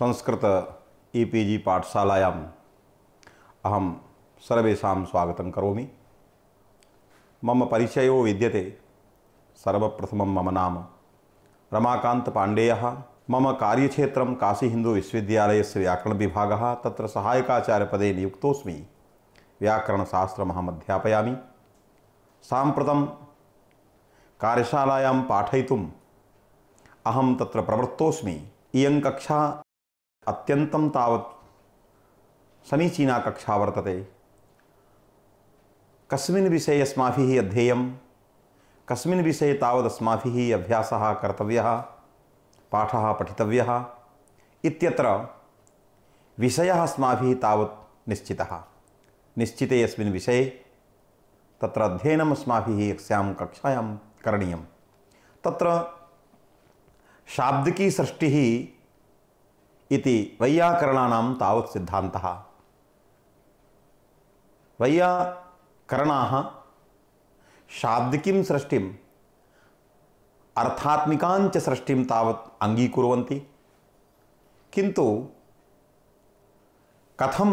Sanskrit EPG पाठशालायाम् अहं सर्वेषां स्वागतं करोमि। मम परिचयो विद्यते। सर्वप्रथमं मम नाम रमाकान्त पाण्डेयः। मम कार्यक्षेत्रं काशी हिन्दू विश्वविद्यालयस्य व्याकरणविभागः। तत्र सहायकाचार्यपदे नियुक्तोऽस्मि। व्याकरणशास्त्रमहम् अध्यापयामि। साम्प्रतं कार्यशालायां पाठयितुम् अहं तत्र प्रवृत्तोऽस्मि। इयं कक्षा अत्यन्तं तावत् समीचीना कक्षा वर्तते। कस्मिन् विषये अस्माभिः अध्येयं, कस्मिन् विषये तावत् अस्माभिः अभ्यासः कर्तव्यः, पाठः पठितव्यः इत्यत्र विषयः अस्माभिः तावत् निश्चितः। निश्चिते अस्मिन् विषये तत्र अध्ययनम् अस्माभिः यस्यां कक्षायां करणीयं। तत्र शाब्दिकी सृष्टिः इति वैयाकरणानां तावत् सिद्धान्तः। वैयाकरणाः शाब्दिकीं सृष्टिम् अर्थात्मिकाञ्च सृष्टिं तावत् अङ्गीकुर्वन्ति। किन्तु कथं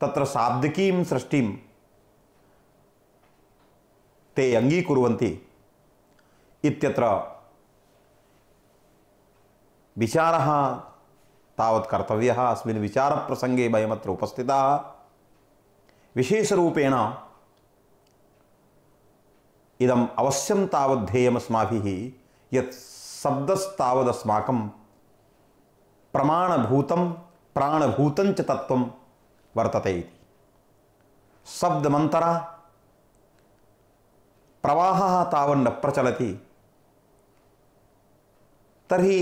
तत्र शाब्दिकीं सृष्टिं ते अङ्गीकुर्वन्ति इत्यत्र विचारः तावत् कर्तव्यः। अस्मिन् विचारप्रसङ्गे वयमत्र उपस्थिताः। विशेषरूपेण इदम् अवश्यं तावत् ध्येयमस्माभिः यत् शब्दस्तावदस्माकं प्रमाणभूतं प्राणभूतं च तत्त्वं वर्तते इति। शब्दमन्तरा प्रवाहः तावन्न प्रचलति तर्हि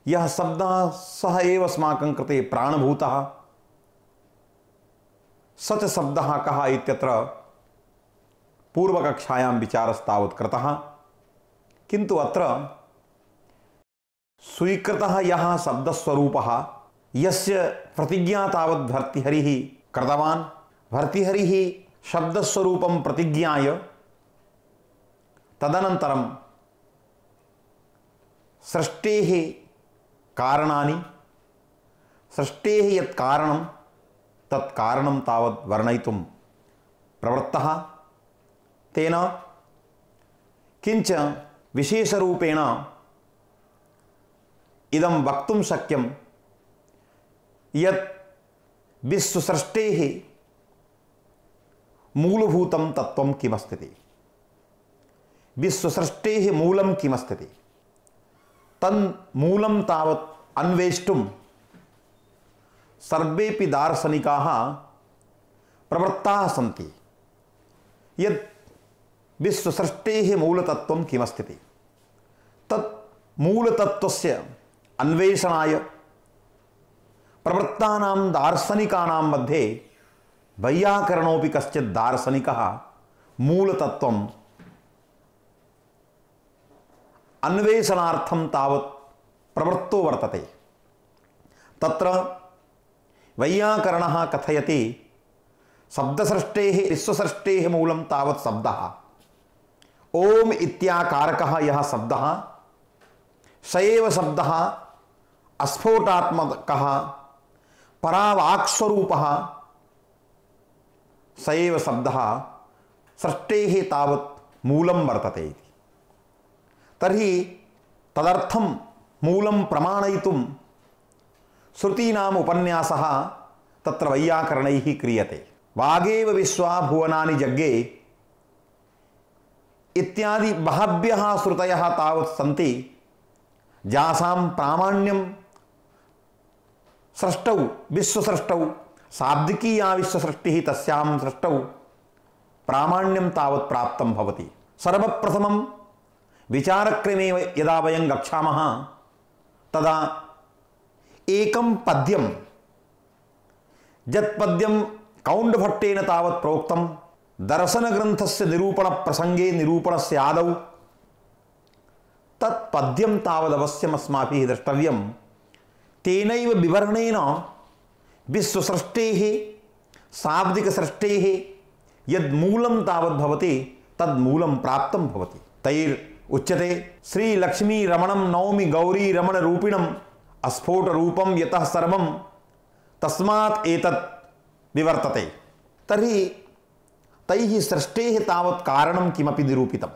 यः शब्दः सः एव अस्माकं कृते प्राणभूतः। स च शब्दः कः इत्यत्र पूर्वकक्षायां विचारस्तावत् कृतः। किन्तु अत्र स्वीकृतः यः शब्दस्वरूपः, यस्य प्रतिज्ञा तावत् भर्तृहरिः कृतवान्, भर्तृहरिः शब्दस्वरूपं प्रतिज्ञाय तदनन्तरं सृष्टेः कारणानि, सृष्टेः यत् कारणं तत् कारणं तावत् वर्णयितुं प्रवृत्तः। तेन किञ्च विशेषरूपेण इदं वक्तुं शक्यं यत् विश्वसृष्टेः मूलभूतं तत्त्वं किमस्ति, विश्वसृष्टेः मूलं किमस्ति, तन्मूलं तावत् अन्वेष्टुं सर्वेपि दार्शनिकाः प्रवृत्ताः सन्ति। यत् विश्वसृष्टेः मूलतत्त्वं किमस्ति तत् मूलतत्त्वस्य अन्वेषणाय प्रवृत्तानां दार्शनिकानां मध्ये वैयाकरणोऽपि कश्चित् दार्शनिकः मूलतत्त्वं अन्वेषणार्थं तावत् प्रवृत्तो वर्तते। तत्र वैयाकरणः कथयति शब्दसृष्टेः विश्वसृष्टेः मूलं तावत् शब्दः। ओम इत्याकारकः यः शब्दः स एव शब्दः अस्फोटात्मकः परावाक्स्वरूपः, स एव शब्दः सृष्टेः तावत् मूलं वर्तते इति। तर्हि तदर्थं मूलं प्रमाणयितुं श्रुतीनाम् उपन्यासः तत्र वैयाकरणैः क्रियते। वागेव विश्वा भुवनानि जग्गे इत्यादि बहव्यः श्रुतयः तावत् सन्ति, जासां प्रामाण्यं सृष्टौ विश्वसृष्टौ शाब्दिकीया विश्वसृष्टिः तस्यां सृष्टौ प्रामाण्यं तावत् प्राप्तं भवति। सर्वप्रथमं विचारक्रमे यदा वयं गच्छामः तदा एकं पद्यं, यत् पद्यं कौण्डभट्टेन तावत् प्रोक्तं दर्शनग्रन्थस्य निरूपणप्रसङ्गे निरूपणस्य आदौ, तत् पद्यं तावदवश्यम् अस्माभिः द्रष्टव्यं। तेनैव विवरणेन विश्वसृष्टेः शाब्दिकसृष्टेः यद्मूलं तावत् भवति तद्मूलं प्राप्तं भवति। तैर् उच्यते श्री लक्ष्मी रमणं नौमि गौरी रमण रूपिणं अस्फोट रूपम यतः सर्वम तस्मात् एतत् विवर्तते। तर्हि तैः सृष्टेः तावत् कारणं किमपि निरूपितम्।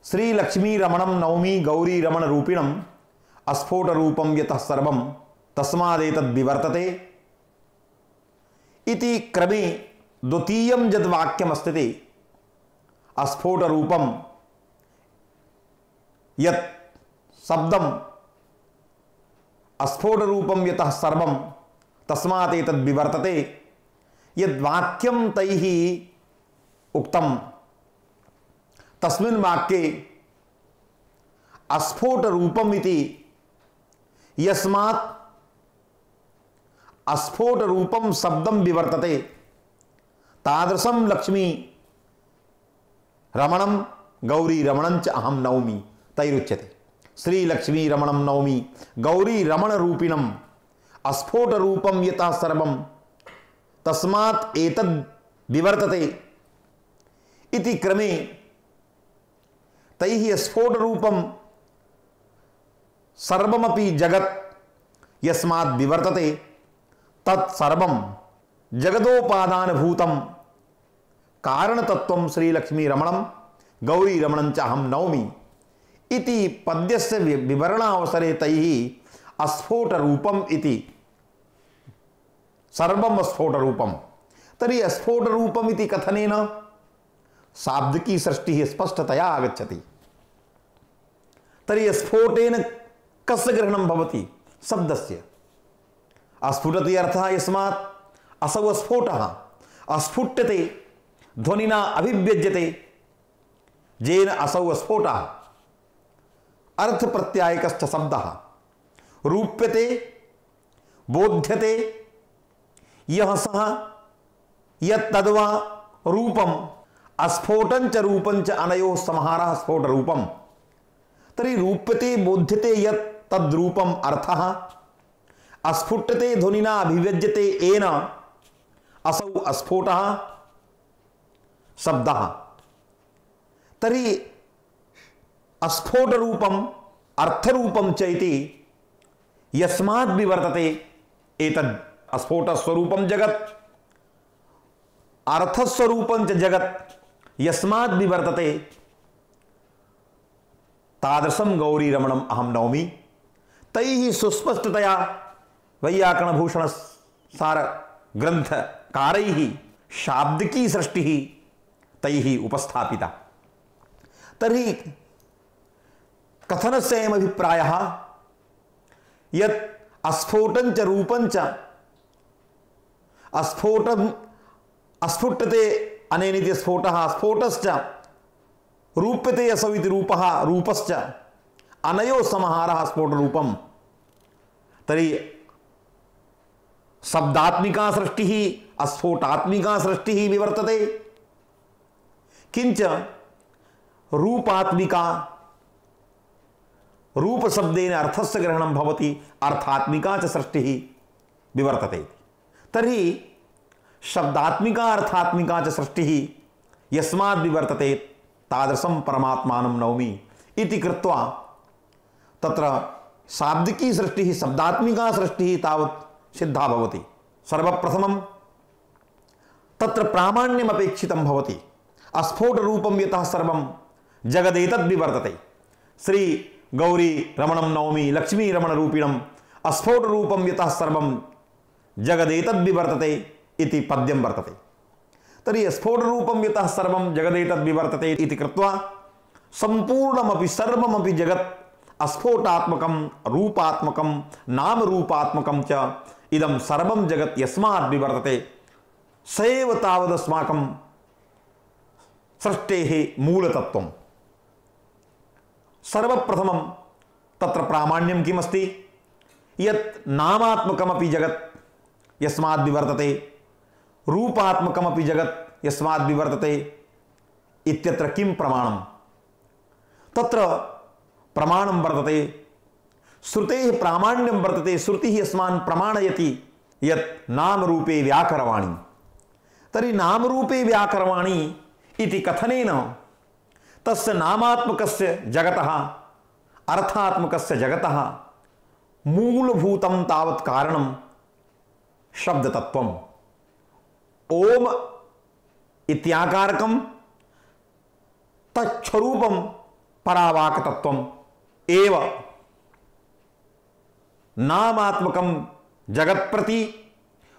श्री लक्ष्मी रमणं नौमि गौरी रमण रूपिणम् अस्फोट रूपम यतः सर्वम तस्मादेतद् विवर्तते इति क्रमे द्वितीयं यद्वाक्यमस्ति अस्फोट रूपम यत् शब्दम अस्फोट रूपम यतः सर्वम तस्मात् एतद् विवर्तते यद्वाक्यं तैः उक्तं तस्मिन् वाक्ये अस्फोट रूपम इति यस्मात् अस्फोट रूपम शब्दं विवर्तते तादृशं लक्ष्मी रमणं गौरी रमणं च अहं नौमि तैरुच्यते। श्री लक्ष्मी रमणं नौमि गौरी रमण रूपिणम् अस्फोट रूपम यतः सर्वम तस्मात् एतद् विवर्तते इति क्रमे तैः स्फोट रूपम सर्वमपि जगत् यस्मात् विवर्तते तत्सर्वं जगदोपादानभूतं कारणतत्त्वं श्रीलक्ष्मी रमणं गौरी रमणं च अहं नौमि इति पद्यस्य विवरणावसरे तैः अस्फोट रूपम् इति सर्वं स्फोट रूपं। तर्हि स्फोट रूपम् इति कथनेन शाब्दिकी सृष्टिः स्पष्टतया आगच्छति। तर्हि स्फोटेन कस्य ग्रहणं भवति? शब्दस्य। अस्फुटति अर्थः यस्मात् असौ स्फोटः अस्फुट्यते ध्वनिना अभिव्यज्यते येन असौ स्फोटः अर्थ प्रत्यायकश्च शब्दः रूप्यते बोध्यते यः सः यत्तद्वा रूपम् अस्फोटञ्च रूपञ्च अनयोः समाहारः स्फोट रूपम्। तर्हि रूप्यते बोध्यते यत् तद्रूपम् अर्थः अस्फुट्यते ध्वनिना अभिव्यज्यते येन असौ अस्फोटः शब्दः। तर्हि अस्फोट रूपम् अर्थरूपं च इति यस्माद् विवर्तते एतद् अस्फोटस्वरूपं जगत् अर्थस्वरूपं च जगत् यस्माद् विवर्तते तादृशं गौरी रमणम् अहं नौमि। तैः सुस्पष्टतया वैयाकरणभूषण सार ग्रंथकारैः शाब्दिकी सृष्टिः तैः उपस्थापिता। तर्हि कथनस्य अयम् अभिप्रायः यत् अस्फोटञ्च रूपञ्च अस्फुट्यते अनेनिति स्फोटः स्फोटश्च रूप्यते असौ इति रूपः रूपश्च अनयोः समाहारः स्फोट रूपम्। तर्हि शब्दात्मिका सृष्टिः अस्फोटात्मिका सृष्टिः विवर्तते किंच रूपात्मिका रूप शब्देन अर्थस्य ग्रहणं भवति अर्थात्मिका च सृष्टिः विवर्तते। तर्हि शब्दात्मिका अर्थात्मिका च सृष्टिः यस्माद् विवर्तते तादृशं परमात्मानं नौमि इति कृत्वा तत्र शाब्दिकी सृष्टिः शब्दात्मिका सृष्टिः तावत् सिद्धा भवति। सर्वप्रथमं तत्र प्रामाण्यम् अपेक्षितं भवति। अस्फोट रूपं यतः सर्वं जगदेतद् विवर्तते श्री गौरी रमणं नौमि लक्ष्मी रमण रूपिणम् अस्फोट रूपं यतः सर्वं जगदेतद् विवर्तते इति पद्यं वर्तते। तर्हि स्फोट रूपं यतः सर्वं जगदेतद् विवर्तते इति कृत्वा संपूर्णमपि सर्वमपि जगत् अस्फोटात्मकं रूपात्मकं नाम रूपात्मकं च इदं सर्वं जगत् यस्माद् विवर्तते स एव तावदस्माकं सृष्टेः मूलतत्त्वम्। सर्वप्रथमं तत्र प्रामाण्यं किमस्ति यत् नामात्मकमपि जगत् यस्माद् विवर्तते रूपात्मकमपि जगत् यस्माद् विवर्तते इत्यत्र किं प्रमाणं? तत्र प्रमाणं वर्तते श्रुतेः प्रामाण्यं वर्तते। श्रुतिः अस्मान् प्रमाणयति यत् नामरूपे व्याकरवाणी। तर्हि नामरूपे व्याकरवाणी इति कथनेन तस्य नामात्मकस्य जगतः अर्थात्मकस्य जगतः मूलभूतं तावत् कारणं शब्दतत्त्वम्। ओम इत्याकारकं तच्छरूपं परावाक्तत्वम् एव नामात्मकं जगत्प्रति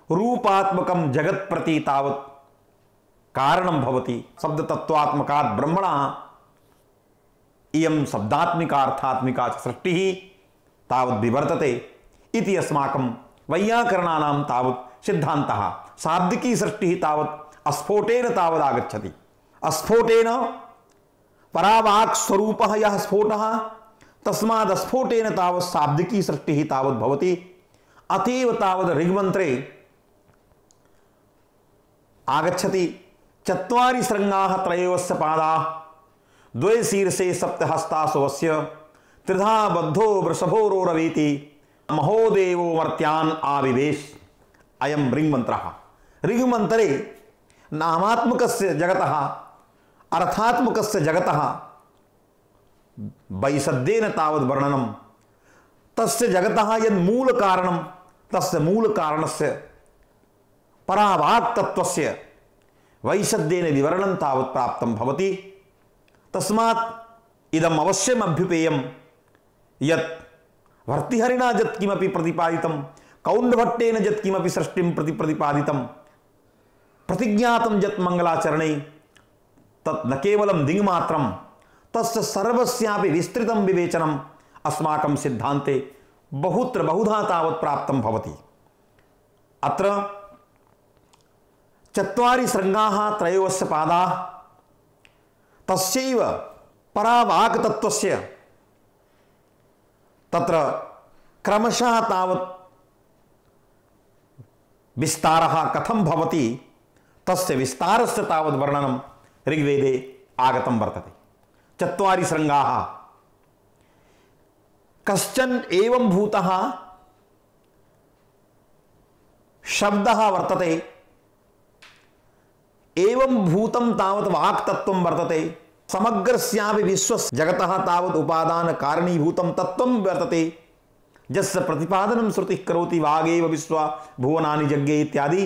रूपात्मकं जगत्प्रति तावत् कारणं भवति। शब्दतत्त्वात्मकात् ब्रह्मणः इयं शब्दात्मिका अर्थात्मिका च सृष्टिः तावत् विवर्तते इति अस्माकं वैयाकरणानां तावत् सिद्धान्तः। शाब्दिकी सृष्टिः तावत् अस्फोटेन तावत् आगच्छति। अस्फोटेन परावाक् स्वरूपः यः स्फोटः तस्माद् अस्फोटेन तावत् शाब्दिकी सृष्टिः तावत् भवति। अतएव तावत् ऋग्मन्त्रे आगच्छति चत्वारि शृङ्गाः त्रयोस्य पादाः द्वे शीर्षे सप्तहस्तासुवस्य त्रिधा बद्धो वृषभोरोरवीति महोदेवो मर्त्यान् आविवेश। अयं ऋग्मन्त्रः। ऋग्मन्त्रे नामात्मकस्य जगतः अर्थात्मकस्य जगतः वैशद्येन तावद् वर्णनं। तस्य जगतः यद् मूलकारणं तस्य मूलकारणस्य परावाक् तत्त्वस्य वैशद्येन विवरणं तावत् प्राप्तं भवति। तस्मात् इदम् अवश्यम् अभ्युपेयं यत् भर्तृहरिणा यत् किमपि प्रतिपादितं कौण्डभट्टेन यत् किमपि सृष्टिं प्रतिपादितं प्रतिज्ञातं यत् मंगलाचरणे तत् न केवलं दिङ्मात्रं तस्य सर्वस्यापि विस्तृतं विवेचनम् अस्माकं सिद्धान्ते बहुत्र बहुधा तावत् प्राप्तं भवति। अत्र चत्वारि शृङ्गाः त्रयोस्य पादाः तस्यैव परावाक् तत्त्वस्य तत्र क्रमशः तावत् विस्तारः कथं भवति तस्य विस्तारस्य तावत् वर्णनं ऋग्वेदे आगतं वर्तते। चत्वारि शृङ्गाः कश्चन एवं भूतः शब्दः वर्तते। एवं भूतं तावत् वाक् तत्त्वं वर्तते। समग्रस्यापि विश्वस्य जगतः तावत् उपादान कारणीभूतं तत्त्वं वर्तते यस्य प्रतिपादनं श्रुतिः करोति वागेव विश्वा भुवनानि जज्ञे इत्यादि।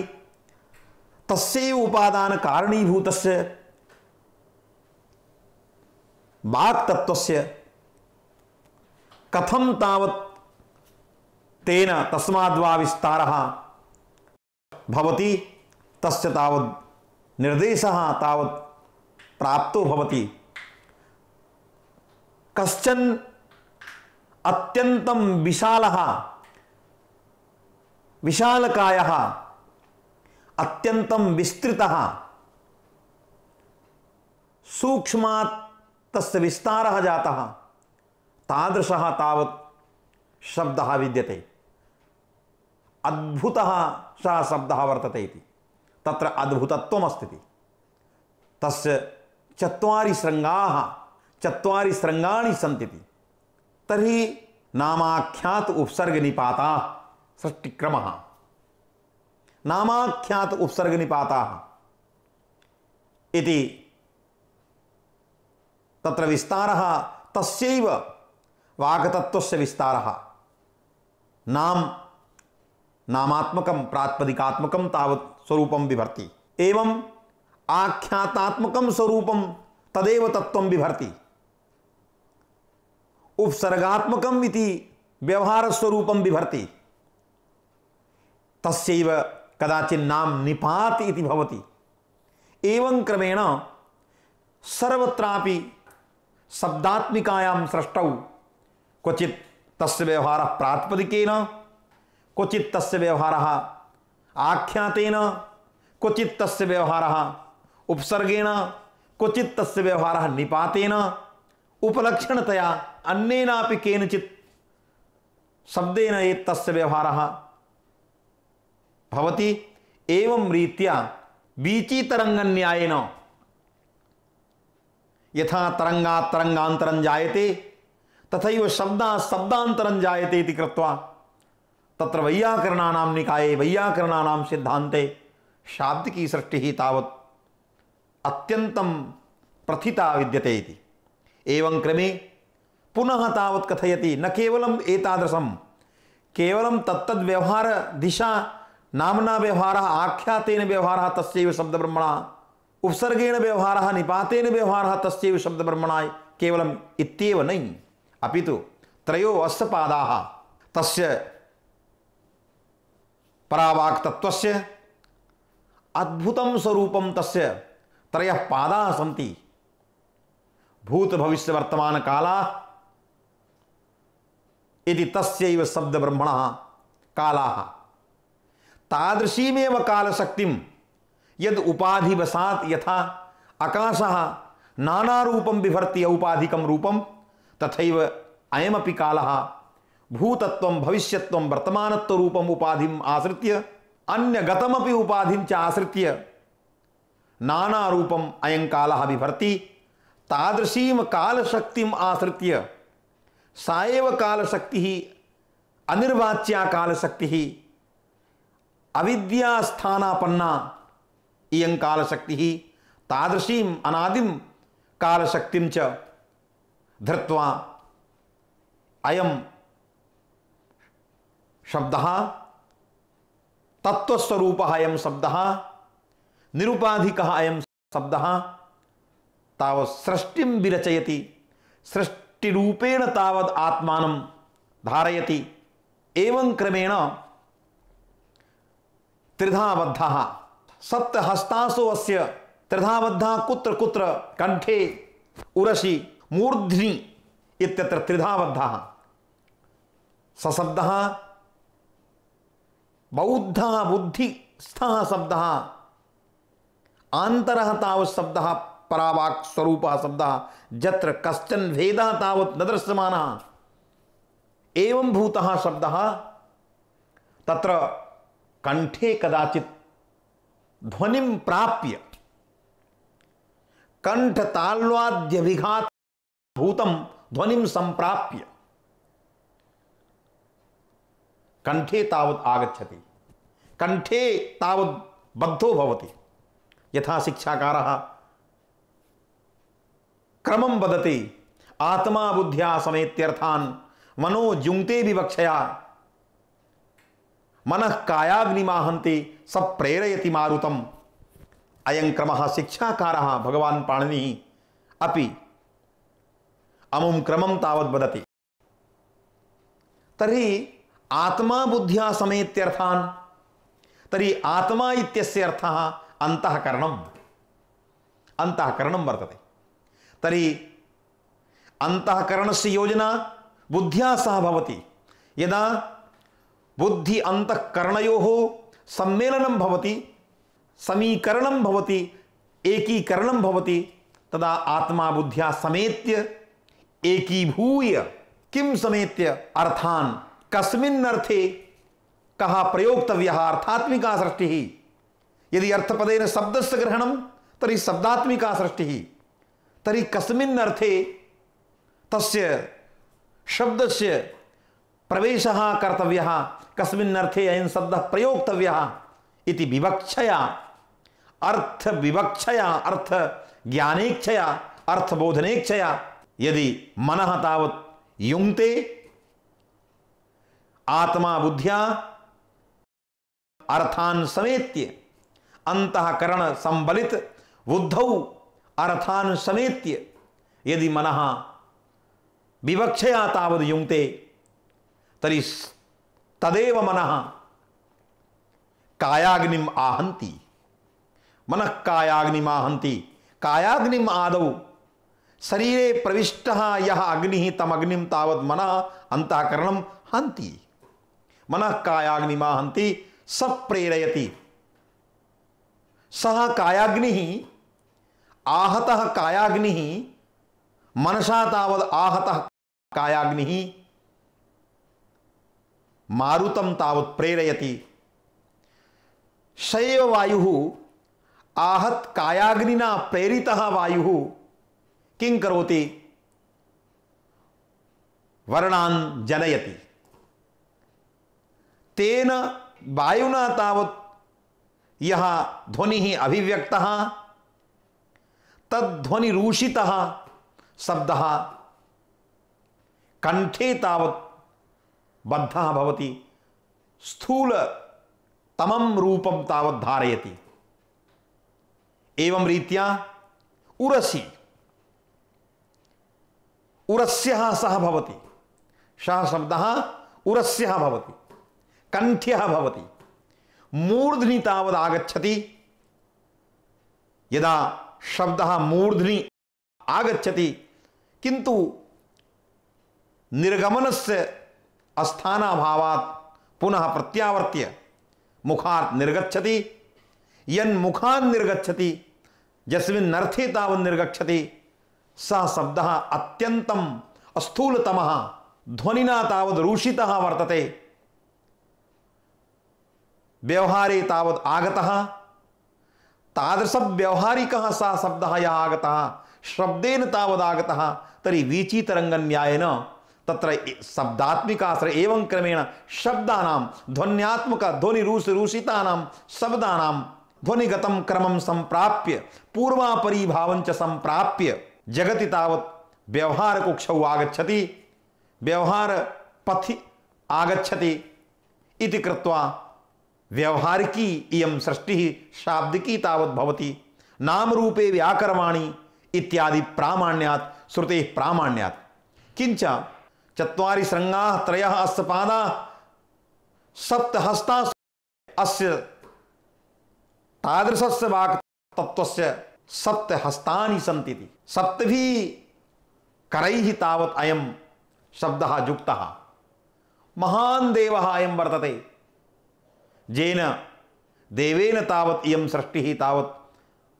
तस्यैव उपादान कारणीभूतस्य वाक् तत्त्वस्य कथं तावत् तेन तस्माद्वा विस्तारः भवति तस्य तावत् निर्देशः तावत् प्राप्तो भवति। कश्चन अत्यन्तं विशालः विशालकायः अत्यन्तं विस्तृतः सूक्ष्मात् तस्य विस्तारः जातः तादृशः तावत् शब्दः विद्यते। अद्भुतः सः शब्दः वर्तते इति तत्र अद्भुतत्वमस्ति। तस्य चत्वारि शृङ्गाः चत्वारि शृङ्गाणि सन्ति। तर्हि नामाख्यात उपसर्ग निपाताः सृष्टिक्रमः। नामाख्यात उपसर्ग निपाताः इति तत्र विस्तारः तस्यैव वाक्तत्त्वस्य विस्तारः। नामात्मकं प्रातिपदिकात्मकं तावत् स्वरूपं बिभर्ति। एवं आख्यातात्मकं स्वरूपं तदेव तत्त्वं बिभर्ति। उपसर्गात्मकम् इति व्यवहार स्वरूपं बिभर्ति। तस्यैव कदाचित् नाम निपात इति भवति। एवं क्रमेण सर्वत्रापि शब्दात्मिकायां सृष्टौ क्वचित् तस्य व्यवहारः प्रातिपदिकेन क्वचित् तस्य व्यवहारः आख्यातेन क्वचित् तस्य व्यवहारः उपसर्गेण क्वचित् तस्य व्यवहारः निपातेन उपलक्षणतया अन्येनापि केनचित् शब्देन एतस्य व्यवहारः भवति। एवं रीत्या वीचितरङ्गन्यायेन यथा तरङ्गात् तरङ्गान्तरं जायते तथैव शब्दात् शब्दान्तरं जायते इति कृत्वा तत्र वैयाकरणानां निकाये वैयाकरणानां सिद्धान्ते शाब्दिकी सृष्टिः तावत् अत्यन्तं प्रथिता विद्यते इति। एवं क्रमे पुनः तावत् कथयति न केवलम् एतादृशं केवलं तत्तद् व्यवहार दिशा नाम्ना व्यवहारः आख्यातेन व्यवहारः तस्यैव शब्दब्रह्मणः उपसर्गेण व्यवहारः निपातेन व्यवहारः तस्यैव शब्दब्रह्मणः केवलम् इत्येव नहि अपितु त्रयो अस्य पादाः तस्य परावाक् तत्त्वस्य अद्भुतं स्वरूपं तस्य त्रयः पादाः सन्ति भूत भविष्य वर्तमान कालाः इति तस्यैव शब्दब्रह्मणः कालाः तादृशीमेव कालशक्तिं यद् उपाधिवशात् यथा आकाशः नानारूपं बिभर्ति औपाधिकं रूपं तथैव अयमपि कालः भूतत्वं भविष्यत्वं वर्तमानत्वरूपम् उपाधिम् आश्रित्य अन्यगतमपि उपाधिं च आश्रित्य नानारूपम् अयं कालः बिभर्ति तादृशीं कालशक्तिम् आश्रित्य सा एव कालशक्तिः अनिर्वाच्या कालशक्तिः अविद्यास्थानापन्ना इयं कालशक्तिः तादृशीम् अनादिं कालशक्तिं च धृत्वा अयं शब्दः तत्त्वस्वरूपः अयं शब्दः निरुपाधिकः अयं शब्दः तावत् सृष्टिं विरचयति सृष्टिरूपेण तावत् आत्मानं धारयति एवं क्रमेण त्रिधाबद्धः सप्तहस्तासु अस्य त्रिधाबद्धः कुत्र कुत्र कंठे उरसि मूर्ध्नि इत्यत्र त्रिधाबद्धः सशब्दः बौद्धः बुद्धिस्थः शब्दः आन्तरः तावत् शब्दः परावाक् स्वरूपः शब्दः जत्र कश्चन भेदः तावत् न दृश्यमानः एवं भूतः शब्दः तत्र कंठे कदाचित् ध्वनिं प्राप्य कंठ ताल्वाद्यभिघात भूतं ध्वनिं संप्राप्य कंठे तावत् आगच्छति कंठे तावत् बद्धो भवति यथा शिक्षाकारः क्रमं वदति आत्मा बुद्ध्या समेत्यर्थान् मनो जुङ्क्ते विवक्षया मनः कायाग्निमाहन्ति स प्रेरयति मारुतम् अयं क्रमः शिक्षाकारः भगवान् पाणिनिः अपि अमुं क्रमं तावत् वदति तर्हि आत्मा बुद्ध्या समेत्यर्थान् तर्हि आत्मा इत्यस्य अर्थः अन्तःकरणम् अन्तःकरणं वर्तते तर्हि अंतःकरणस्य योजना बुद्ध्या सह भवति यदा बुद्धि अंतःकरणयोः सम्मेलनं भवति समीकरणं भवति एकीकरणं भवति तदा आत्मा बुद्ध्या समेत्य एकीभूय किं समेत्य अर्थान् कस्मिन् अर्थे कः प्रयोक्तव्यः अर्थात्मिका सृष्टिः यदि अर्थपदेन शब्दस्य ग्रहणं तर्हि शब्दात्मिका सृष्टिः तर्हि कस्मिन् अर्थे तस्य शब्दस्य प्रवेशः कर्तव्यः कस्मिन् अर्थे अयं शब्दः प्रयोक्तव्यः इति विवक्षया अर्थविवक्षया अर्थज्ञानेच्छया अर्थबोधनेच्छया यदि मनः तावत् युङ्क्ते आत्मा बुद्ध्या अर्थान् समेत्य अंतःकरण संबलित बुद्धौ अर्थान् समेत्य यदि मनः विवक्षया तावद् युङ्क्ते तर्हि तदेव मनः कायाग्निम् आहन्ति मनः कायाग्निम् आहन्ति कायाग्निम् आदौ शरीरे प्रविष्टः यः अग्निः तम् अग्निं तावत् मनः अंतःकरणं हन्ति मनः कायाग्निम् आहन्ति स प्रेरयति सः कायाग्निः आहतः कायाग्निः मनसा तावद् आहतः कायाग्निः मारुतं तावत् प्रेरयति स एव वायुः आहत कायाग्निना प्रेरितः वायुः किं करोति वर्णान् जनयति तेन वायुना तावत् यः ध्वनिः अभिव्यक्तः तद्ध्वनिरूषितः शब्दः कंठे तावत् बद्धः भवति स्थूल तमं रूपं तावत् धारयति। एवं रीत्या उरसि उरस्यः सः भवति, सः शब्दः उरस्यः भवति, कंठ्यः भवति, मूर्ध्नि तावत् आगच्छति। यदा शब्दः मूर्ध्नि आगच्छति किन्तु निर्गमनस्य स्थानाभावात् पुनः प्रत्यावर्त्य मुखात् निर्गच्छति। यन्मुखात् निर्गच्छति, यस्मिन् अर्थे तावत् निर्गच्छति, सः शब्दः अत्यन्तं स्थूलतमः ध्वनिना तावत् रूषितः वर्तते। व्यवहारे तावत् आगतः, तादृशव्यवहारिकः सः शब्दः यः आगतः, शब्देन तावत् आगतः, तर्हि वीचितरङ्गन्यायेन तत्र शब्दात्मिकाश्रय एवं क्रमेण शब्दानां ध्वन्यात्मक ध्वनिरूषितानां शब्दानां ध्वनिगतं क्रमं संप्राप्य पूर्वापरीभावं च संप्राप्य जगति तावत् व्यवहारकुक्षौ आगच्छति, व्यवहारपथि आगच्छति इति कृत्वा व्यवहारिकी इयं सृष्टिः शाब्दिकी तावत् भवति। नामरूपे व्याकरवाणी इत्यादि प्रामाण्यात् श्रुतेः प्रामाण्यात्। किंच चत्वारि शृङ्गाः त्रयः अस्य पादाः सप्तहस्ताः अस्य तादृशस्य वाक् तत्त्वस्य सप्तहस्तानि सन्ति। सप्तभिः करैः तावत् अयं शब्दः युक्तः। महान् देवः अयं वर्तते, येन देवेन तावत् इयं सृष्टिः तावत्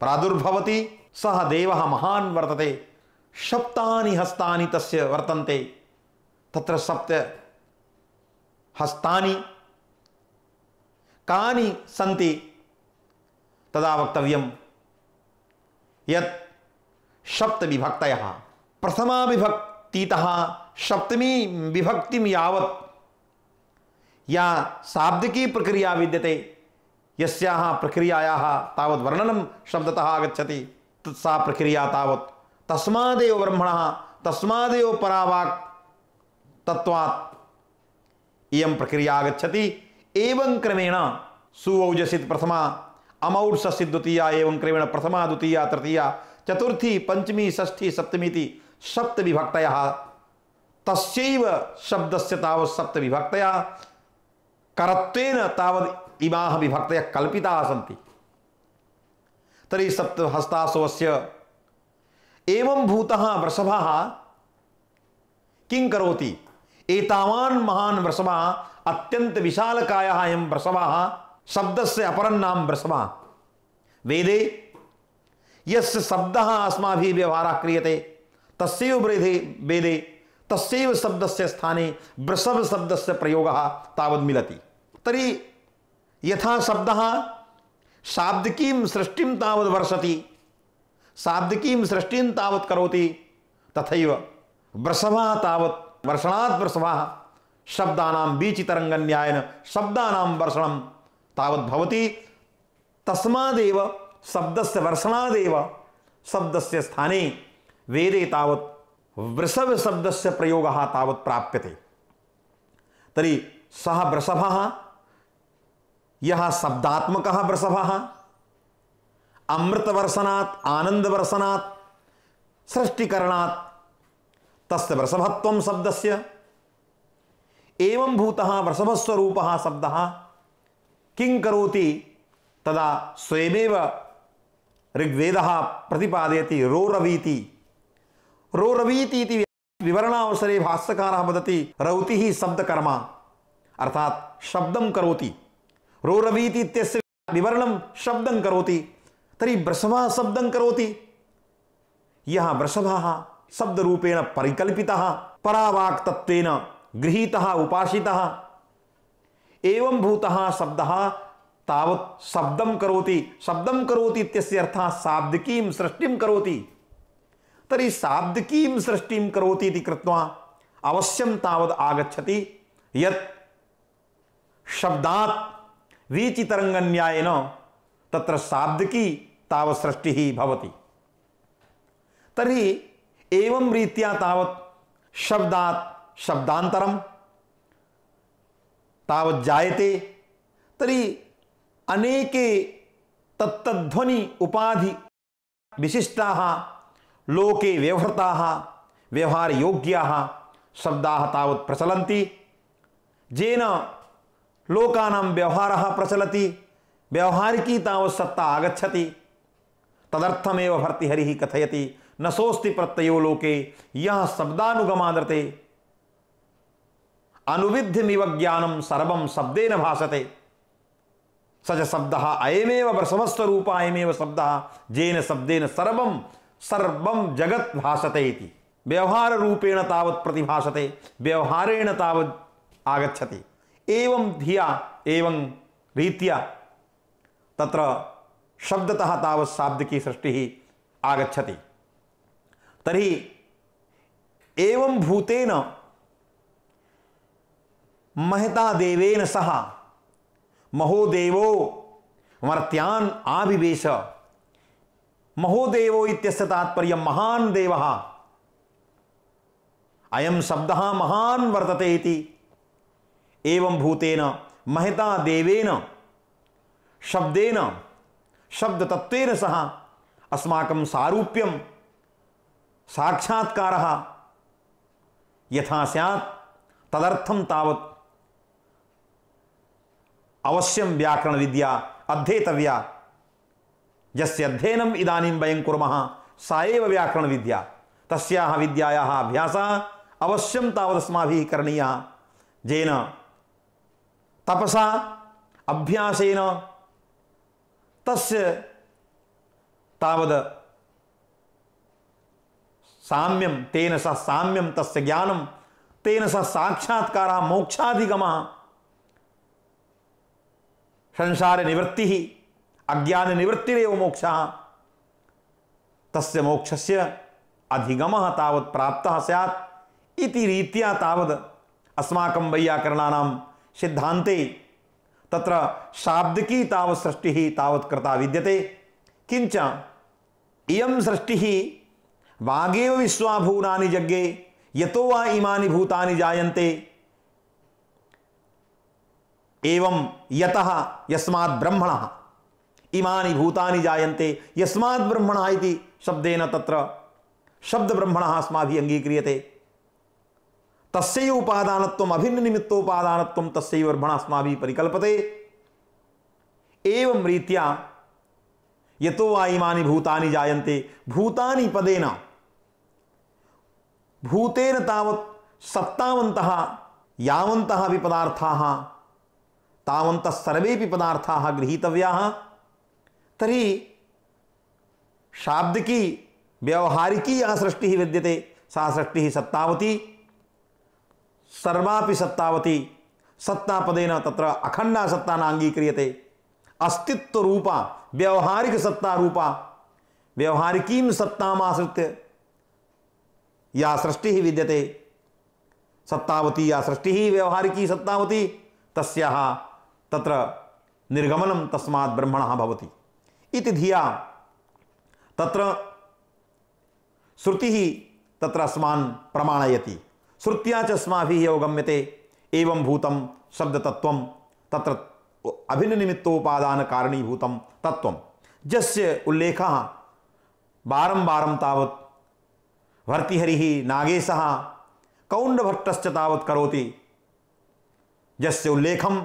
प्रादुर्भवति। सः देवः महान् वर्तते। सप्तानि हस्तानि तस्य वर्तन्ते। तत्र सप्त हस्तानि कानि सन्ति तदा वक्तव्यं यत् सप्तविभक्तयः प्रथमा विभक्तितः सप्तमी विभक्तिं यावत् या शाब्दिकी प्रक्रिया विद्यते, यस्याः प्रक्रियायाः तावत् वर्णनं शब्दतः आगच्छति, सा प्रक्रिया तावत् तस्मादेव ब्रह्मणः तस्मादेव परावाक् तत्त्वात् इयं प्रक्रिया आगच्छति। एवं क्रमेण सुऔजसित् प्रथमा, अमौर्षसित् द्वितीया, एवं क्रमेण प्रथमा द्वितीया तृतीया चतुर्थी पंचमी षष्ठी सप्तमीति सप्तविभक्तयः। तस्यैव शब्दस्य तावत् सप्तविभक्तयः करत्वेन तावत् इमाः विभक्तयः कल्पिताः सन्ति। तर्हि सप्तहस्तासुवस्य एवं भूतः वृषभः किं करोति? एतावान् महान् वृषभः, अत्यंत विशालकायः अयं वृषभः, शब्दस्य अपरं नाम वृषभः। वेदे यस्य शब्दः अस्माभिः व्यवहारः क्रियते तस्यैव वेदे तस्यैव शब्दस्य स्थाने वृषभ शब्दस्य प्रयोगः तावत् मिलति। तर्हि यथा शब्दः शाब्दिकीं सृष्टिं तावत् वर्षति, शाब्दिकीं सृष्टिं तावत् करोति, तथैव वृषभः तावत् वर्षणात् वृषभः शब्दानां वीचितरङ्गन्यायेन शब्दानां वर्षणं तावत् भवति। तस्मादेव शब्दस्य वर्षणादेव शब्दस्य स्थाने वेदे तावत् वृषभ शब्दस्य प्रयोगः तावत् प्राप्यते। तर्हि सः वृषभः यः शब्दात्मकः वृषभः अमृतवर्षणात् आनन्दवर्षणात् सृष्टिकरणात् तस्य वृषभत्वं शब्दस्य एवं भूतः वृषभस्वरूपः शब्दः किं करोति? तदा स्वयमेव ऋग्वेदः प्रतिपादयति रोरवीति। रोरवीति इति विवरणावसरे भाष्यकारः वदति रौतिः शब्दकर्मा, अर्थात शब्दं करोति। रोरवीति इत्यस्य विवरणं शब्दं करोति। तर्हि वृषभः शब्दं करोति। यः वृषभः शब्दरूपेण परिकल्पितः परावाक् तत्त्वेन गृहीतः उपासितः एवं भूतः शब्दः तावत् शब्दं करोति। शब्दं करोति इत्यस्य अर्थः शाब्दिकीं सृष्टिं करोति। तर्हि शाब्दिकीं सृष्टिं करोति इति कृत्वा अवश्यं तावत् आगच्छति यत् शब्दात् वीचितरङ्गन्यायेन तत्र शाब्दिकी तावत् सृष्टिः भवति। तर्हि एवं रीत्या तावत् शब्दात् शब्दान्तरं तावत् जायते तर्हि अनेके तत्तध्वनि उपाधि विशिष्टाः लोके व्यवहृताः व्यवहारयोग्याः शब्दाः तावत् प्रचलन्ति, येन लोकानां व्यवहारः प्रचलति, व्यवहारिकी तावत् सत्ता आगच्छति। तदर्थमेव भर्तृहरिः कथयति न सोऽस्ति प्रत्ययो लोके यः शब्दानुगमादृते अनुविध्यमिव ज्ञानं सर्वं शब्देन भाषते स च शब्दः अयमेव समस्तरूप अयमेव शब्दः येन शब्देन सर्वं सर्वं जगत् भाषते इति। व्यवहार रूपेण तावत् प्रतिभाषते, व्यवहारेण तावत् आगच्छति। एवं धिया एवं रीत्या तत्र शब्दतः तावत् शाब्दिकी सृष्टिः आगच्छति। तर्हि एवं भूतेन महता देवेन सह महोदेवो मर्त्यान् आविवेश। महोदेवो इत्यस्य तात्पर्यं महान् देवः, अयं शब्दः महान् वर्तते इति। एवं भूतेन महता देवेन शब्देन शब्दतत्वेन सह अस्माकं सारूप्यं साक्षात्कारः यथा स्यात् तदर्थं तावत् अवश्यं व्याकरण विद्या अध्येतव्या। यस्य अध्ययनम् इदानीं वयं कुर्मः सा एव व्याकरण विद्या। तस्याः विद्यायाः अभ्यासः अवश्यं तावत् अस्माभिः करणीयः, येन तपसा अभ्यासेन तस्य तावद् साम्यं तेन सह साम्यं तस्य ज्ञानं तेन सह साक्षात्कारः मोक्षाधिगमः संसार निवृत्तिः अज्ञान निवृत्तिरेव मोक्षः। तस्य मोक्षस्य अधिगमः तावत् प्राप्तः स्यात् इति रीत्या तावद् अस्माकं वैयाकरणानां सिद्धान्ते तत्र शाब्दिकी तावत् सृष्टिः तावत् कृता विद्यते। किंच इयं सृष्टिः वागेव विश्वाभूतानि जग्गे यतो वा इमानि भूतानि जायन्ते। एवं यतः यस्मात् ब्रह्मणः इमानि भूतानि जायन्ते यस्मात् ब्रह्मणः इति शब्देन तत्र शब्द ब्रह्मणः अस्माभिः अंगीक्रियते। तस्यैव उपादानत्वम् अभिन्न निमित्तोपादानत्वं तस्यैव ब्रह्मणः अस्माभिः परिकल्पते। एवं रीत्या यतो वा इमानि भूतानि जायन्ते भूतानि पदेन भूतेन तावत् सत्तावन्तः यावन्तः अपि पदार्थाः तावन्तः सर्वेपि पदार्थाः गृहीतव्याः। तर्हि शाब्दिकी व्यवहारिकी या सृष्टिः विद्यते सा सृष्टिः सत्तावती, सर्वापि सत्तावती। सत्तापदेन तत्र अखण्डा सत्ता नाङ्गीक्रियते। अस्तित्व रूपा व्यवहारिक सत्ता रूपा व्यवहारिकीं सत्तामाश्रित्य या सृष्टिः विद्यते सत्तावती या सृष्टिः व्यवहारिकी सत्तावती तस्याः तत्र निर्गमनं तस्मात् ब्रह्मणः भवति इति धिया तत्र श्रुतिः तत्र अस्मान् प्रमाणयति। श्रुत्या च अस्माभिः अवगम्यते एवं भूतं शब्दतत्त्वं तत्र अभिन्ननिमित्तोपादान कारणीभूतं तत्त्वं यस्य उल्लेखः बारं तावत् भर्तृहरिः नागेशः कौण्डभट्टश्च तावत् करोति। यस्य उल्लेखं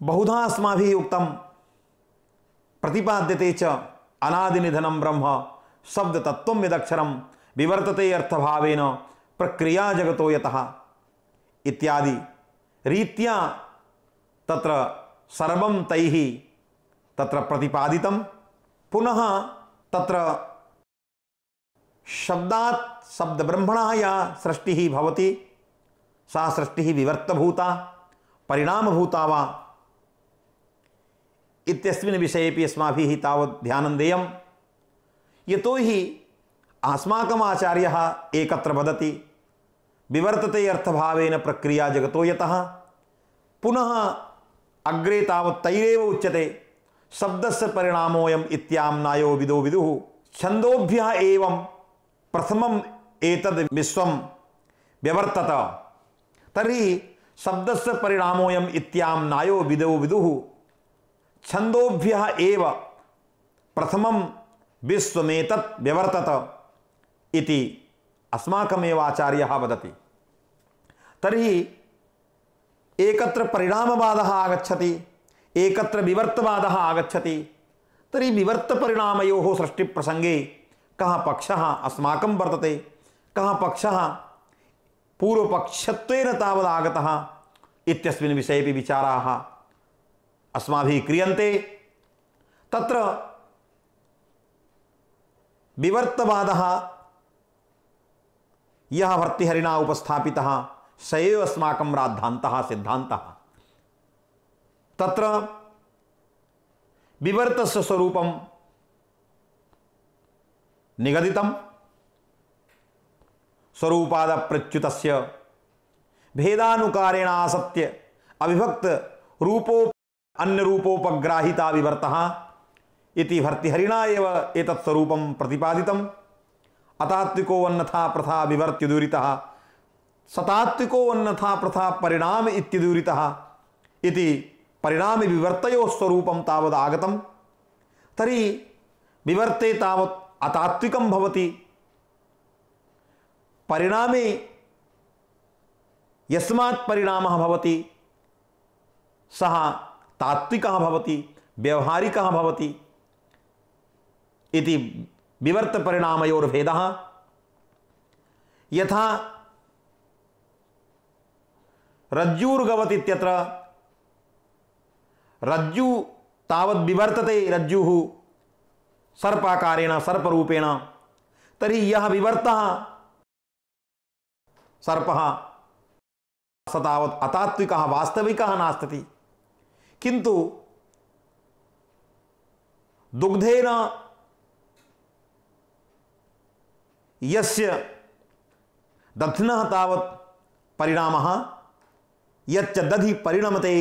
बहुधा अस्माभिः उक्तं प्रतिपाद्यते च अनादिनिधनं ब्रह्म शब्दतत्त्वं यदक्षरं विवर्तते अर्थभावेन प्रक्रिया जगतो यतः इत्यादि रीत्या तत्र सर्वं तैः तत्र प्रतिपादितं। पुनः तत्र शब्दात् शब्दब्रह्मणः या सृष्टिः भवति सा सृष्टिः विवर्तभूता परिणामभूता वा इत्यस्मिन् विषयेपि अस्माभिः तावत् ध्यानं देयं। यतो हि अस्माकम् आचार्यः एकत्र वदति विवर्तते अर्थभावेन प्रक्रिया जगतो यतः। पुनः अग्रे तावत् तैरेव उच्यते शब्दस्य परिणामोऽयम् इत्याम्नायो विदो विदुः छन्दोभ्यः एवं प्रथमम् एतद् विश्वं व्यवर्तत तर्हि शब्दस्य परिणामोऽयम् इत्यां नायो विदो विदुः छन्दोभ्यः एव प्रथमं विश्वमेतत् व्यवर्तत इति अस्माकमेव आचार्यः वदति। तर्हि एकत्र परिणामवादः आगच्छति, एकत्र विवर्तवादः आगच्छति। तर्हि विवर्तपरिणामयोः सृष्टिप्रसङ्गे कः पक्षः अस्माकं वर्तते, कः पक्षः पूर्वपक्षत्वेन तावदागतः इत्यस्मिन् विषयेपि विचाराः अस्माभिः क्रियन्ते। तत्र विवर्तवादः यः भर्तृहरिणा उपस्थापितः स एव अस्माकं राद्धान्तः सिद्धान्तः। तत्र विवर्तस्य स्वरूपं निगदितं, स्वरूपादप्रच्युतस्य भेदानुकारेण आसत्य अविभक्त रूपो अन्यरूपोपग्राहिता विवर्तः इति भर्तृहरिणा एव एतत् स्वरूपं प्रतिपादितम्। अतात्विको अन्यथा प्रथा विवर्त्युदूरितः, सतात्विको अन्यथा प्रथा परिणाम इत्युदूरितः इति परिणाम विवर्तयोः स्वरूपं तावद् आगतं। तर्हि विवर्ते तावत् अतात्विकं भवति, परिणामे यस्मात् परिणामः भवति सः तात्विकः भवति, व्यवहारिकः भवति इति विवर्तपरिणामयोर्भेदः। यथा रज्जुर्गवत् इत्यत्र रज्जु तावद् विवर्तते, रज्जुः सर्पाकारेण सर्परूपेण, तर्हि यः विवर्तः सर्पः स तावत् अतात्विकः वास्तविकः नास्ति। किन्तु दुग्धेन यस्य दध्नः तावत् परिणामः, यच्च दधि परिणमते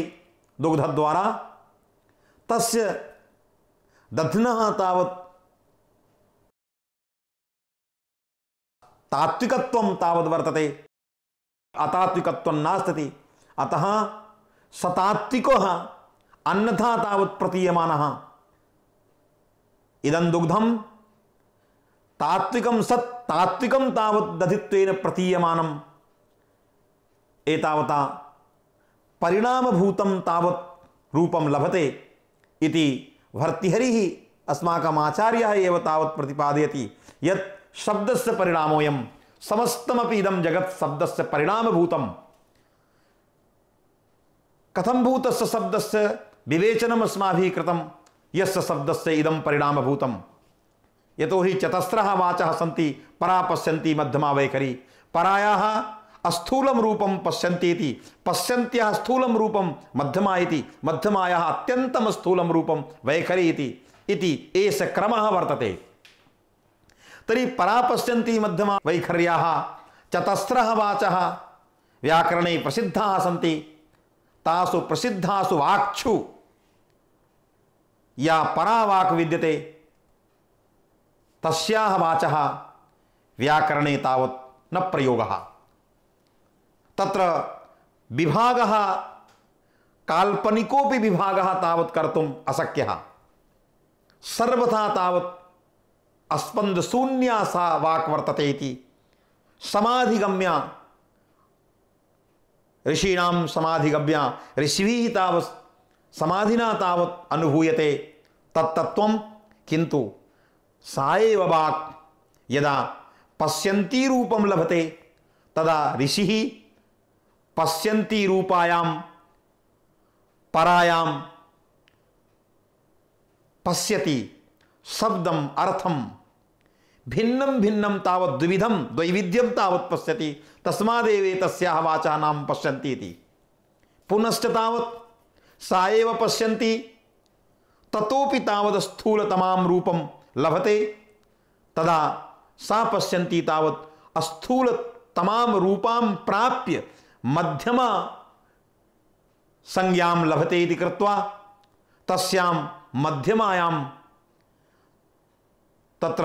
दुग्धद्वारा, तस्य दध्नः तावत् तात्विकत्वं तावद् वर्तते, अतात्विकत्वं नास्ति। अतः सतात्विकः अन्यथा तावत् प्रतीयमानः। इदं दुग्धं तात्विकं सत् तात्विकं तावत् दधित्वेन प्रतीयमानम्। एतावता परिणामभूतं तावत् रूपं लभते इति भर्तृहरिः अस्माकम् आचार्यः एव तावत् प्रतिपादयति यत् शब्दस्य परिणामोऽयं समस्तमपि इदं जगत् शब्दस्य परिणामभूतं। कथं भूतस्य शब्दस्य विवेचनम् अस्माभिः कृतं, यस्य शब्दस्य इदं परिणामभूतं। यतोहि चतस्रः वाचः सन्ति, परा पश्यन्ति मध्यमा वैखरी, परायाः अस्थूलं रूपं पश्यन्ति इति, पश्यन्त्याः स्थूलं रूपं मध्यमा इति, मध्यमायाः अत्यन्तं स्थूलं रूपं वैखरी इति एष क्रमः वर्तते। तर्हि परा पश्यन्ति मध्यमा वैखर्याः चतस्रः वाचः व्याकरणे प्रसिद्धाः सन्ति। तासु प्रसिद्धासु वाक्षु या परा वाक् विद्यते तस्याः वाचः व्याकरणे तावत् न प्रयोगः। तत्र विभागः काल्पनिकोऽपि विभागः तावत् कर्तुम् अशक्यः। सर्वथा तावत् अस्पन्दशून्या सा वाक् वर्तते इति समाधिगम्या, ऋषीणां समाधिगम्या, ऋषिभिः तावत् समाधिना तावत् अनुभूयते तत्तत्त्वं। किन्तु सा एव वाक् यदा पश्यन्ती रूपं लभते तदा ऋषिः पश्यन्ती रूपायां परायां पश्यति शब्दम् अर्थं भिन्नं भिन्नं तावत् द्विविधं द्वैविध्यं तावत् पश्यति। तस्मादेव तस्याः वाचा नाम पश्यन्ति इति। पुनश्च तावत् सा एव पश्यन्ति, ततोपि तावत् स्थूलतमां रूपं लभते। तदा सा पश्यन्ति तावत् स्थूलतमां रूपां प्राप्य मध्यमा संज्ञां लभते इति कृत्वा तस्यां मध्यमायां तत्र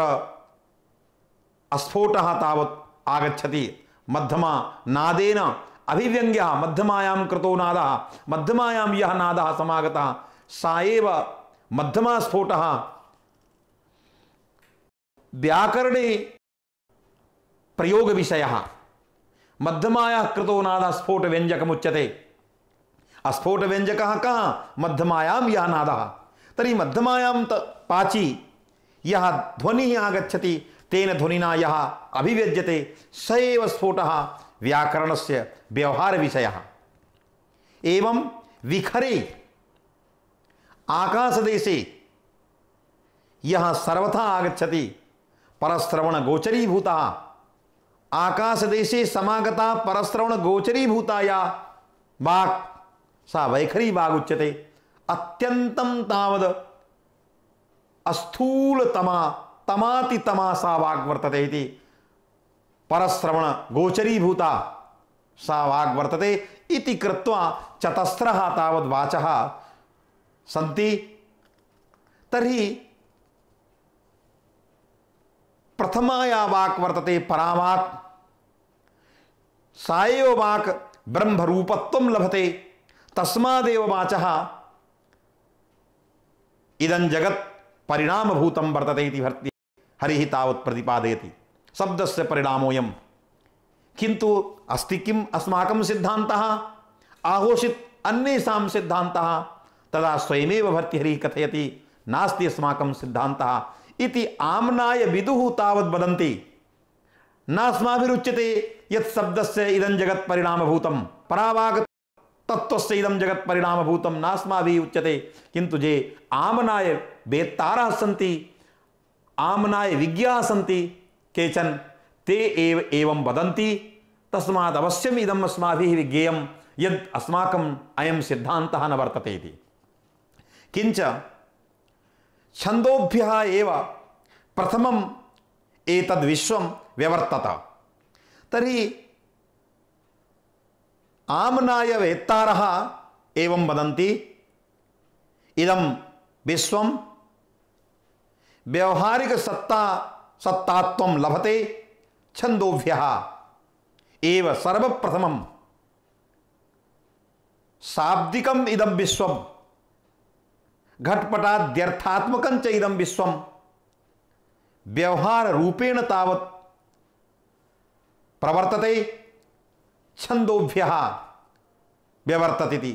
अस्फोटः तावत् आगच्छति। मध्यमा नादेन अभिव्यंग्यः मध्यमायां कृतो नादः, मध्यमायां यः नादः समागतः सा एव मध्यमा स्फोटः व्याकरणे प्रयोग विषयः। मध्यमायाः कृतो नादः स्फोट व्यंजकमुच्यते। अस्फोट व्यंजकः कः? मध्यमायां यः नादः। तर्हि मध्यमायां पाची यः ध्वनिः आगच्छति तेन ध्वनिना यः अभिव्यज्यते स एव स्फोटः व्याकरणस्य व्यवहारविषयः। एवं विखरे आकाशदेशे यः सर्वथा आगच्छति परश्रवण गोचरीभूतः, आकाशदेशे समागता परश्रवण गोचरीभूता या वाक् सा वैखरी वाग् उच्यते। अत्यन्तं तावद् अस्थूलतमा तमातितमा सा वाग् वर्तते इति। परश्रवण गोचरीभूता सा वाग् वर्तते इति कृत्वा चतस्रः तावद् वाचः सन्ति। तर्हि प्रथमा या वाक् वर्तते परावाक्, सा एव वाक् ब्रह्मरूपत्वं लभते। तस्मादेव वाचः इदं जगत् परिणामभूतं वर्तते इति हरिः तावत् प्रतिपादयति। शब्दस्य परिणामोऽयं। किन्तु अस्ति किम् अस्माकं सिद्धान्तः? आहोषित अन्येषां सिद्धान्तः तदा स्वयमेव भर्तृहरिः कथयति नास्ति अस्माकं सिद्धान्तः इति। आम्नाय विदुः तावद् वदन्ति नास्माभिरुच्यते यत् शब्दस्य इदं जगत् परिणामभूतं, परावाक् तत्त्वस्य इदं जगत् परिणामभूतं नास्माभिः उच्यते। किन्तु जे आमनाय वेत्तारः सन्ति, आमनाय विज्ञाः सन्ति केचन, ते एव एवं वदन्ति। तस्मात् अवश्यम् इदम् अस्माभिः विज्ञेयं यद् अस्माकम् अयं सिद्धान्तः न वर्तते इति। किञ्च छन्दोभ्यः एव प्रथमम् एतद्विश्वं व्यवर्तत। तर्हि आमनाय वेत्तारः एवं वदन्ति इदं विश्वं व्यवहारिक सत्तात्वं लभते छन्दोभ्यः एव सर्वप्रथमं। शाब्दिकम् इदं विश्वं घटपटाद्यर्थात्मकं च इदं विश्वं व्यवहार रूपेण तावत् प्रवर्तते छन्दोभ्यः व्यवर्तते।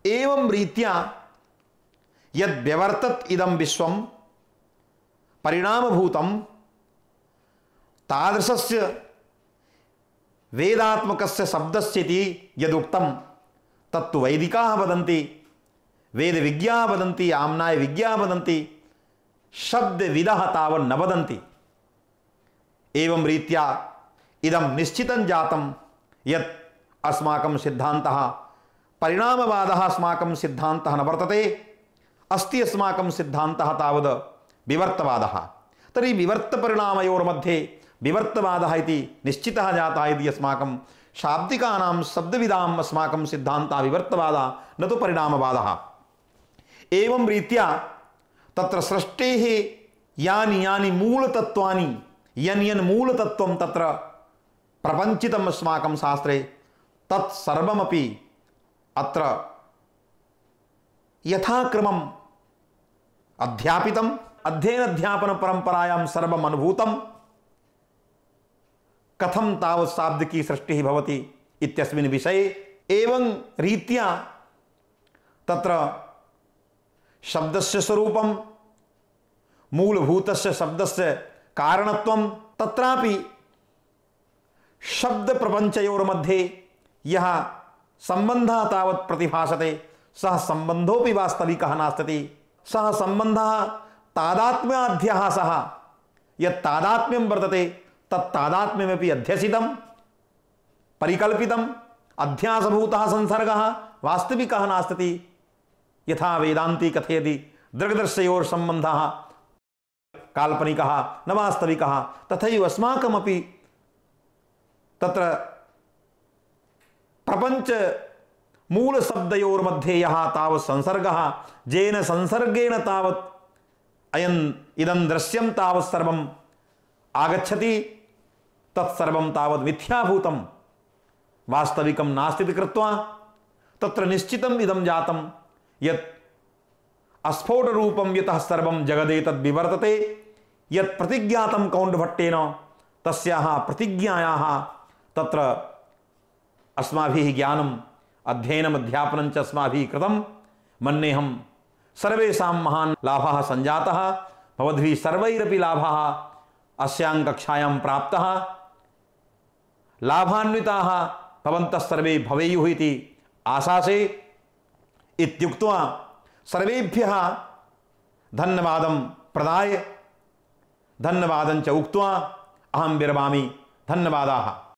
एवं रीत्या यद् व्यवर्तत इदं विश्वं परिणामभूतं तादृशस्य वेदात्मकस्य शब्दस्य इति यदुक्तं तत्तु वैदिकाः वदन्ति, वेदविज्ञाः वदन्ति, आम्नाय विज्ञाः वदन्ति, शब्दविदः तावन् न वदन्ति। एवं रीत्या इदं निश्चितं जातं यत् अस्माकं सिद्धान्तः परिणामवादः अस्माकं सिद्धान्तः न वर्तते, अस्ति अस्माकं सिद्धान्तः तावद् विवर्तवादः। तर्हि विवर्तपरिणामयोर्मध्ये विवर्तवादः इति निश्चितः जातः इति अस्माकं शाब्दिकानां शब्दविदाम् अस्माकं सिद्धान्तः विवर्तवादः न तु परिणामवादः। एवं रीत्या तत्र सृष्टेः यानि यानि मूलतत्त्वानि यन् मूलतत्त्वं तत्र प्रपञ्चितम् अस्माकं शास्त्रे तत्सर्वमपि अत्र यथाक्रमम् अध्यापितम्, अध्ययनाध्यापनपरम्परायां सर्वम् अनुभूतं। कथं तावत् शाब्दिकी सृष्टिः भवति इत्यस्मिन् विषये एवं रीत्या तत्र शब्दस्य स्वरूपं, मूलभूतस्य शब्दस्य कारणत्वं, तत्रापि शब्दप्रपञ्चयोर्मध्ये यः सम्बन्धः तावत् प्रतिभासते सः सम्बन्धोऽपि वास्तविकः नास्ति। सः सम्बन्धः तादात्म्याध्यः सः यत् तादात्म्यं वर्तते तत्तादात्म्यमपि अध्यसितं परिकल्पितम् अध्यासभूतः संसर्गः वास्तविकः नास्ति। यथा वेदान्ती कथयति दृग्दर्शयोर्सम्बन्धः काल्पनिकः न वास्तविकः, तथैव अस्माकमपि तत्र प्रपञ्च मूलशब्दयोर्मध्ये यः तावत् संसर्गः येन संसर्गेण तावत् इदं दृश्यं तावत् सर्वम् आगच्छति तत्सर्वं तावत् मिथ्याभूतं वास्तविकं नास्ति इति कृत्वा तत्र निश्चितम् इदं जातं यत् अस्फोटरूपं यतः सर्वं जगदेतद् विवर्तते यत् प्रतिज्ञातं कौण्डभट्टेन तस्याः प्रतिज्ञायाः तत्र अस्माभिः ज्ञानम् अध्ययनम् अध्यापनं च अस्माभिः कृतं मन्येऽहं सर्वेषां महान् लाभः सञ्जातः भवद्भिः सर्वैरपि लाभः अस्यां कक्षायां प्राप्तः लाभान्विताः भवन्तः सर्वे भवेयुः इति आशासे इत्युक्त्वा सर्वेभ्यः धन्यवादं प्रदाय धन्यवादं च उक्त्वा अहं विरमामि। धन्यवादाः।